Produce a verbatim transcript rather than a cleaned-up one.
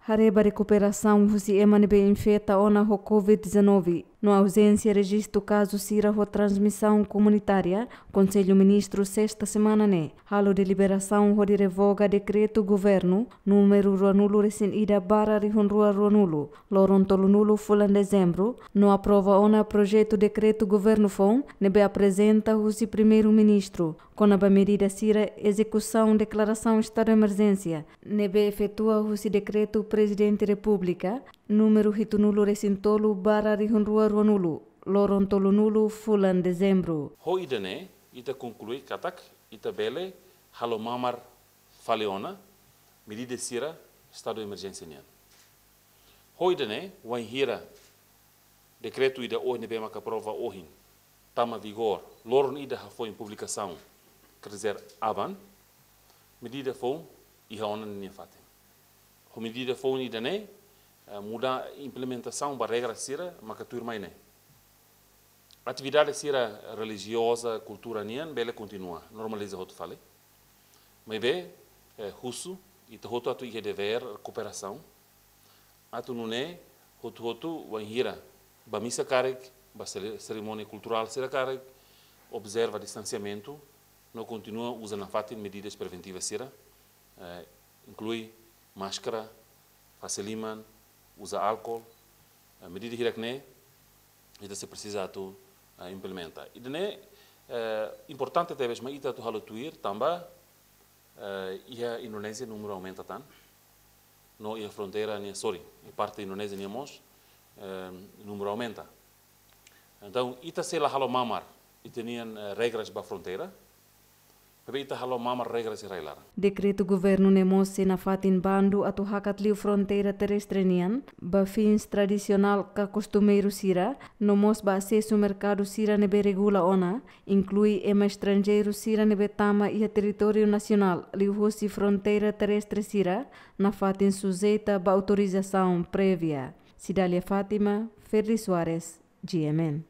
Haree ba rekuperasaun husi ema ne'ebé infeta ona ho covid dezanove no auzénsia rejistu kazu sira ho transmisaun komunitária, Konsellu Ministru sesta semana ne'e halo deliberasaun hodi revoga dekretu governu númeru ruanulu resin ida barra rihun rua ruanulu, loron tolunulu fulan dezembru, no aprova ona projetu dekretu governu foun ne'ebé aprezenta husi Primeiru-Ministru, kona-ba medida sira ezekusaun deklarasaun estadu emerjénsia ne'ebé efetua husi dekretu Prezidente Repúblika númeru hitunulu resin tolu barra rihun rua ruanulu, loron tolunulu fulan dezembru. Ho ida-ne'e, ita konklui katak ita bele halo mamar fali ona medida sira estadu emerjénsia nian. Ho ida-ne'e, wainhira dekretu ida ohin ne'ebé maka aprova ohin tama vigor, loron ida hafoin publikasaun, quer dizer, aban, medida foun iha ona ninia fatin. Ho medida foun ida-ne'e, eh, muda implementasaun ba regra sira maka tuirmai ne'e. Atividade sira relijioza, kultura nian bele kontinua, normaliza hotu fali. Maibé, eh, husu ita hotu atu iha devér kooperasaun atu nune'e hotu-hotu wainhira ba misa karik, ba sele-, serimónia kulturál sira karik, observa distansiamentu, no kontinua uza nafatin medidas preventivas sira, eh, inklui máskara, fase liman, uza álkol, eh, medida hirak-ne'e ita sei presiza atu, eh, implementa. Ida-ne'e, eh, importante tebes mak ita atu halo tuir, tanba, eh, iha Indonézia númeru aumenta tan, no iha fronteira nian, sorry, iha parte Indonézia nian mós, eh, númeru aumenta. Entaun, ita sei la halo mamar ita-nian, eh, regras ba fronteira, maibé ita halo mamar regras iha rai-laran. Dekretu governu ne'e mós sei nafatin bandu atu hakat liu fronteira terrestre nian ba fins tradisionál ka kostumeiru sira, no mós ba asesu merkadu sira ne'ebé regula ona, inklui ema estranjeiru sira ne'ebé tama iha territóriu nasionál liuhusi fronteira terrestre sira, nafatin sujeita ba autorizasaun prévia. Cidália Fátima, Ferdi Soares, G M N.